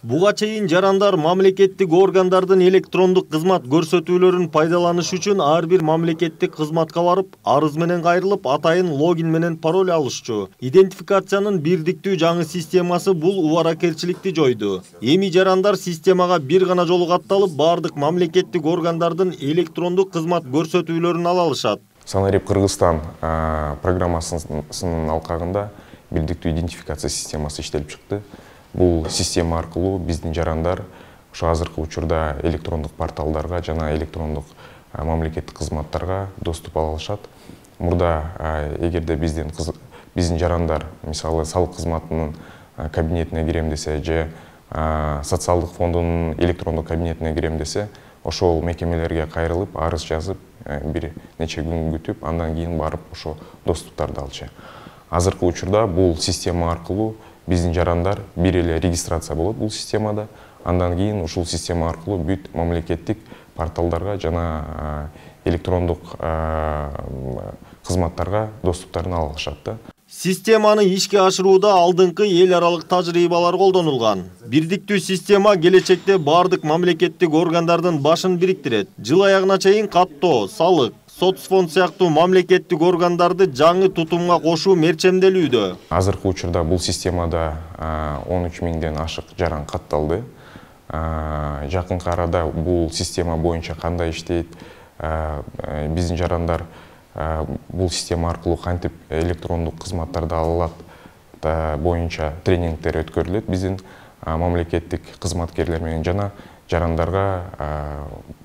Буга чейин жарандар мамлекеттик органдардын электрондук кызмат көрсөтүүлөрүн пайдаланыш үчүн ар бир мамлекеттик кызматка барып, арыз менен кайрылып, атайын логин менен пароль алышчу. Идентификациянын бирдиктүү жаңы системасы бул убаракерчиликти жойду. Эми жарандар системага бир гана жолу катталып, бардык мамлекеттик органдардын электрондук кызмат көрсөтүүлөрүн ала алышат. Санарип Кыргызстан программасынын алкагында бирдиктүү идентификация системасы иштелип чыкты. Бул система аркылуу биздин жарандар ошо азыркы учурда электрондук порталдарга жана электрондук мамлекеттик кызматтарга доступ ала алышат. Мурда эгерде биздин жарандар мисалы салык кызматынын кабинетине кирем десе же социалдык фондунун электрондук кабинетине кирем десе, ошол мекемелерге кайрылып, арыз жазып, бир нече күн күтүп, андан кийин барып ошо доступтарды алчу. Азыркы учурда бул система аркылуу биздин жарандар бир эле регистрация болот бул системада. Андан кийин ушул система аркылуу бүт мамлекеттик порталдарга жана электрондук кызматтарга доступтарын ала алышат да. Системаны ишке ашырууда алдыңкы эл аралык тажрыйбалар колдонулган. Бирдиктүү система келечекте бардык мамлекеттик органдардын башын бириктирет. Жыл аягына чейин каттоо, салык, соцфонд сыяктуу мамлекеттик органдарды жаңы тутумга кошуу мерчемделүүдө. Азыркы учурда бул системада 13 миңден ашык жаран катталды. Жакынкы арада бул система боюнча кандай иштейт, биздин жарандар бул система аркылуу кантип электрондук кызматтарды ала алат боюнча тренингдер өткөрүлөт биздин мамлекеттик кызматкерлер менен, жана жарандарга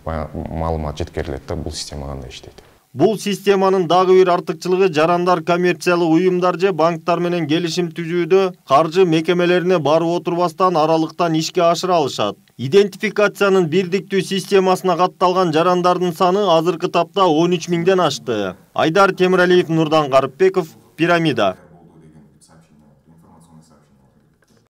маалымат жеткирилет да бул система кандай иштейт. Бул системанын дагы бир артыкчылыгы жарандар коммерциялык уюмдар же банктар менен келишим түзүүдө каржы мекемелерине барып отурбастан аралыктан ишке ашыра алышат. Идентификациянын бирдиктүү системасына катталган жарандардын саны азыркы тапта 13 миңден ашты. Айдар Темиралиев, Нурдан Карыпбеков, Пирамида.